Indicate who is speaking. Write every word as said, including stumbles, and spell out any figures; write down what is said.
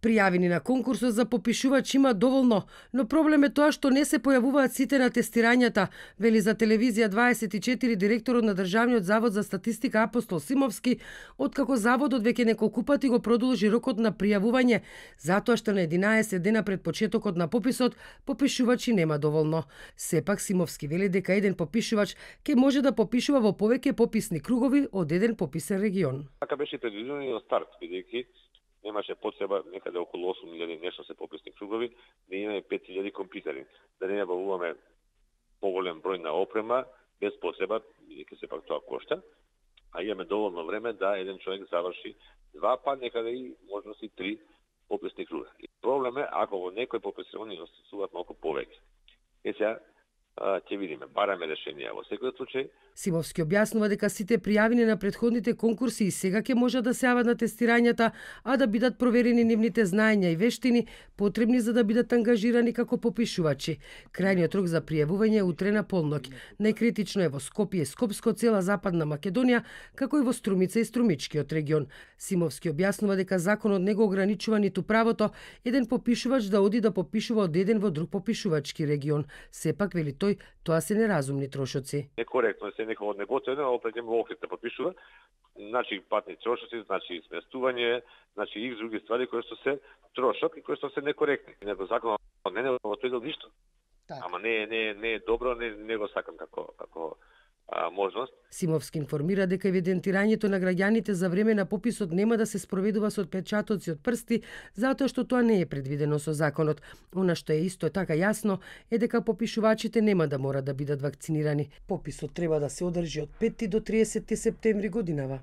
Speaker 1: Пријавени на конкурсот за попишувач има доволно, но проблем е тоа што не се појавуваат сите на тестирањата, вели за телевизија дваесет и четири директорот на Државниот завод за статистика Апостол Симовски, откако заводот веќе неколку пати го продолжи рокот на пријавување, затоа што на единаесет дена пред почетокот на пописот попишувачи нема доволно. Сепак Симовски вели дека еден попишувач ќе може да попишува во повеќе пописни кругови од еден пописен регион.
Speaker 2: Така беше предвидено и од старт, бидејќи немаше потреба некаде околу осум илјади нешто се пописни кругови, да имаме пет илјади компјутери, да не набавуваме поголем број на опрема без потреба, бидејќи сепак тоа кошта, а имаме доволно време да еден човек заврши два, па некаде и можности три пописни круга. И проблем е ако во некој попис они освојуваат малку повеќе. Е сега ќе видиме, бараме решение во секој случај.
Speaker 1: Симовски објаснува дека сите пријавени на претходните конкурси и сега ќе можат да се јават на тестирањата, а да бидат проверени нивните знаења и вештини потребни за да бидат ангажирани како попишувачи. Крајниот рок за пријавување е утре на полноќ. Најкритично е во Скопје и Скопско, цела Западна Македонија, како и во Струмица и Струмичкиот регион. Симовски објаснува дека законот не го ограничува ниту правото еден попишувач да оди да попишува од еден во друг попишувачки регион. Сепак вели тој, тоа се неразумни трошоци.
Speaker 2: Некоректно се некој од неготовено, опред во Охрид да попишува, значи патни трошоци, значи сместување, значи и други ствари кои што се трошок и кои што се некоректни. Него законот не не отредил ништо. Так. Ама не не не е добро, не не го сакам како како а, можност.
Speaker 1: Симовски информира дека евидентирањето на граѓаните за време на пописот нема да се спроведува со отпечатоци од прсти, затоа што тоа не е предвидено со законот. Она што е исто така јасно е дека попишувачите нема да мора да бидат вакцинирани. Пописот треба да се одржи од пети до триесетти септември годинава.